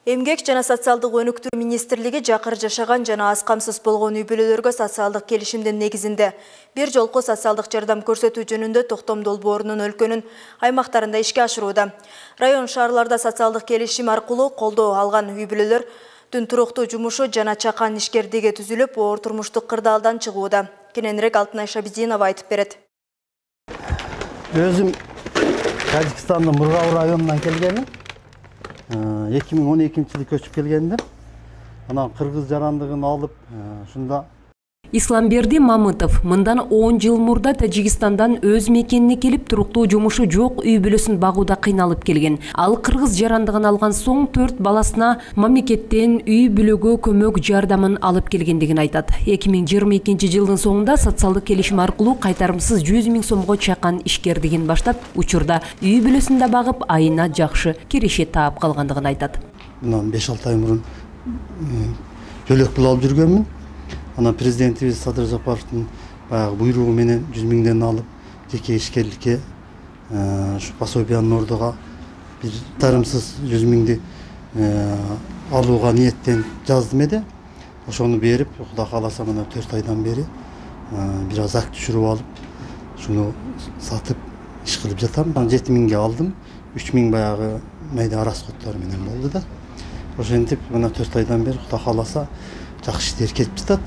Эмгек жана социалдык өнүктүрүү министрлиги жакыр жашаган жана аз камсыз болгон үй-бүлөлөргө социалдык келишимдин негизинде бир жолку социалдык жардам көрсөтүү жөнүндө токтом долбоорунун өлкөнүн аймактарында ишке ашырууда. Район шаарларда социалдык келишим аркылуу колдоо алган үй-бүлөлөрдүн туруктуу жумушу жана чакан ишкердиги түзүлүп, оор турмуштук кырдаалдан чыгууда. Кененирээк Алтынай Шабидинова айтып берет. Өзүм Тажикстандын Мургаб районунан келгенмин. 2012-жылы көчүп келгендим. Анан кыргыз жарандыгын алып, ушунда Исламберди Мамытов мындан 10 жыл мурда Тажикстандан өз мекенине келип, туруктуу жумушу жок үй-бүлөсүн багууда кыйналып келген. Ал кыргыз жарандыгын алган соң 4 баласына мамлекеттен үй-бүлөгө көмөк жардамын алып келгендигин айтат. 2022 жылдын соңунда социалдык келишим аркылуу кайтарымсыз 100 000 сомго чакан ишкердигин баштап, учурда үй-бүлөсүндө багып, айына жакшы киреше таап калгандыгын айтат. Мындан 5-6 ай мурун жөлөк пул алып жүргөнмүн. Анан президентибиз Садыр Жапаровдун баягы буйругу менен 100 000 алып, жеке ишкерликке пособиянын ордуга бир тарымсыз 100 000 алууга ниеттен жаздым эде. Ошону берип, Кудай кааласа мына 4 айдан бери бир аз ак түшүрүп алып, шуну сатып иш кылып жатам. 7 000 алдым, 3 000 баягы майда расходдор менен болду да. Ошентип мына 4 айдан бери Кудай кааласа жакшы иштер кетип жатат.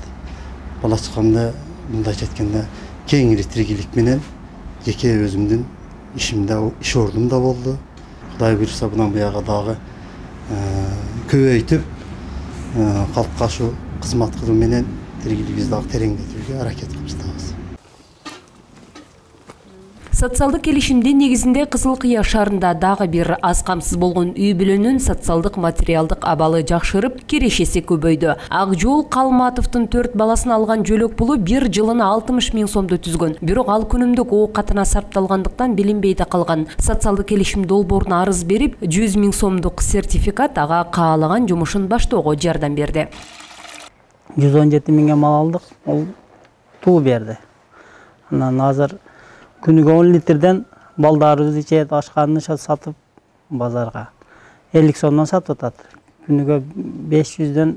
Бала чакамда мындайча айтканда кеңири тиргилик менен жеке өзүмдүн ишимде, иш ордумда болду. Кудай буйруса мына буяга дагы көбөйтүп, калкка ушу кызмат кылуу менен тиргилигибизди дагы тереңдетүүгө аракет кылып жатабыз. Социалдык келишимдин негизинде Кызыл Кыя шаарында дагы бир аз камсыз болгон үй-бүлөнүн социалдык материалдык абалы жакшырып, кирешеси көбөйдү. Акжол Калматовдун 4 баласын алган жөлөк пулу бир жылына 60 000 сомду түзгөн. Бирок ал күнүмдүк оокатына сарпталгандыктан билинбей да калган. Социалдык келишим долбооруна арыз берип, 100 000 сомдук сертификат ага каалаган жумушун баштоого жардам берди. 117 000 мал алдык, ол туу берди. Анан азыр күнүгө 10 литрден балдарыбыз ичет, ашканын сатып базарга 50 сомдон сатып атат. Күнүгө 500дөн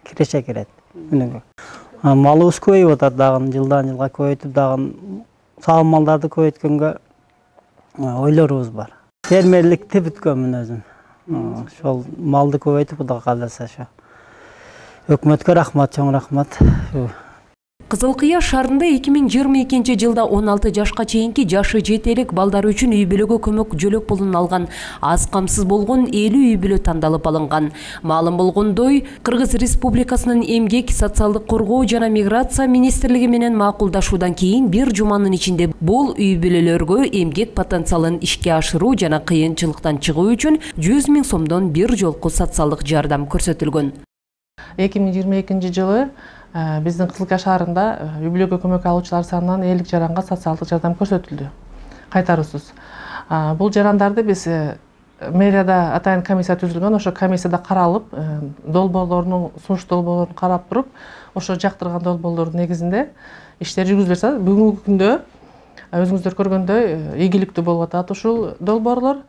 киреше керет күнүгө. Малыбыз көбөйүп атат дагы, жылдан жылга көбөйтүп дагы саам малдарды көбөйткөнгө ойлорубуз бар. Фермерликти бүткөнмүн өзүм. Ошол малды көбөйтүп Кудай кааласа ошо. Өкмөткө рахмат, чоң рахмат. Кызыл Кыя шаарында 2022 жылда 16 жашка чейинки жашы жетелик балдар үчүн үй-бүлөгө көмөк жөлөк пулун алган аз камсыз болгон 50 үй-бүлө тандалып алынган. Маалым болгондой, Кыргыз Республикасынын Эмгек, социалдык коргоо жана миграция министрлиги менен макулдашуудан кийин бир жуманын ичинде бул үй-бүлөлөргө эмгек потенциалын ишке ашыруу жана кыйынчылыктан чыгуу үчүн 100 000 сомдон бир жолку социалдык жардам көрсөтүлгөн. 2022 жылы биздин Кызыл Кыя шаарында үй-бүлөгө көмөк алуучулар санынан 50 жаранга социалдык жардам көрсөтүлдү. Кайтаруусуз. Бул жарандарды биз мэрияда атайын комиссия түзүлгөн, ошо комиссияда каралып, долбоорлорунун сунуш долбоорлорун карап туруп, ошо жактырган долбоорлордун негизинде иштер жүргүзүлөт. Бүгүнкү күндө өзүңүздөр көргөндөй ийгиликтүү болуп атат ушул долбоорлор.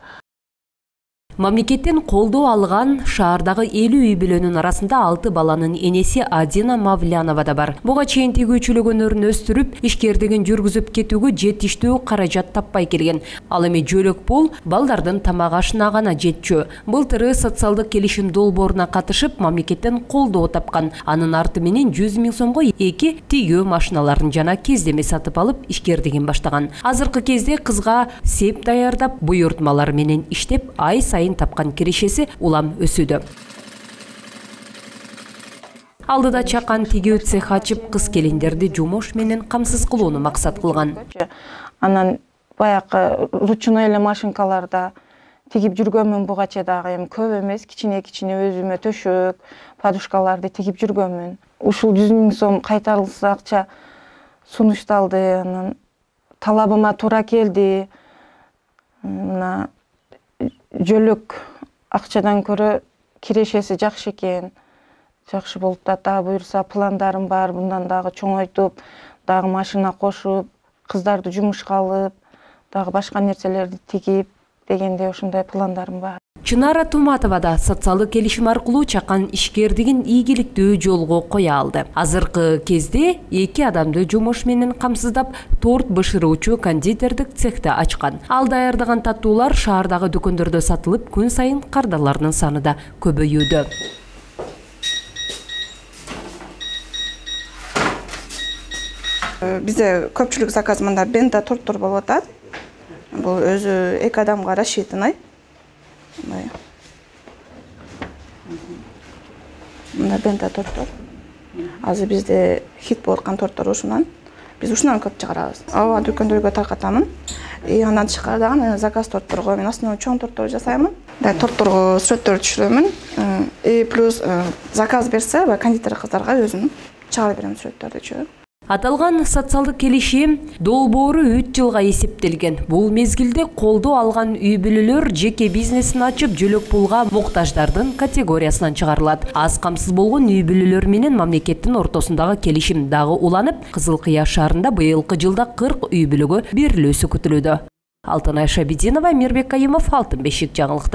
Мамлекеттен колдоо алган шаардагы 50 үй-бүлөнүн арасында 6 баланын энеси Адина Мавлянова да бар. Буга чейин тегүүчүлөгөнөрүн өстүрүп, ишкердигин жүргүзүп кетүүгө жетиштүү каражат таппай келген. Ал эми жөлөк пул балдардын тамак ашына гана жетчү. Былтыры социалдык келишим долбооруна катышып, мамлекеттен колдоо тапкан. Анын арты менен 100 000 сомго 2 тигөө машиналарын жана кездеме сатып алып, ишкердигин баштаган. Азыркы кезде кызга сеп даярдап, буйртмалар менен иштеп, ай сайын тапкан кирешеси улам өсүүдө. Алдыда чакан тигүү цех ачып, кыз келиндерди жумуш менен камсыз кылууну максат кылган. Анан баягы ручной эле машинкаларда тигип жүргөнмүн, бугача дагы эми көп эмес, кичине өзүмө төшөк, подушкаларды тигип жүргөнмүн. Ушул 100 000 сом кайтарылсыз акча сунушталды, анан талабыма туура келди. Мына жөлөк акчадан көрө кирешеси жакшы экен. Жакшы болуп да буйруса пландарым бар, мындан дагы чоңойтуп, дагы машина кошуп, кыздарды жумушка алып, дагы башка нерселерди тигип, дегенде ошондой пландарым бар. Чынара Туматова да социалдык келишим аркылуу чакан ишкердигин ийгиликтүү жолго кое алды. Азыркы кезде 2 адамды жумуш менен камсыздап, торт бышыруучу кондитердик цехти ачкан. Ал даярдаган таттуулар шаардагы дүкөндөрдө сатылып, күн сайын кардарлардын саны да көбөйүүдө. Бизде көпчүлүк заказ мында бента торттор болуп атат. Бул өзү 2 адамга рассчитанный. Мында бента торттор. Азыр бизде хит болуп аткан торттор ушунан. Биз ушунан көп чыгарабыз. Ооба, дүкөндөргө таркатамын. Андан тышкары дагы заказ тортторго мен основной чоң торттор жасаймын. Тортторго сүрөттөр түшүрөмүн. Плюс заказ берсе, кондитер кыздарга өзүм чыгарып берем сүрөттөрдү. Аталган социалдык келишим долбоору 3 жылга эсептелген. Бул мезгилде колдоо алган үй бүлөлөр жеке бизнесин ачып, жөлөк пулга муктаждардын категориясынан чыгарылат. Аз камсыз болгон үй бүлөлөр менен мамлекеттин ортосундагы келишим дагы уланып, Кызыл Кыя шаарында быйылкы жылда 40 үй бүлөгө берилүүсү күтүлүүдө. Алтынай Шабидинова, Мирбек Кайымов, Алтын бешик жаңылыктары.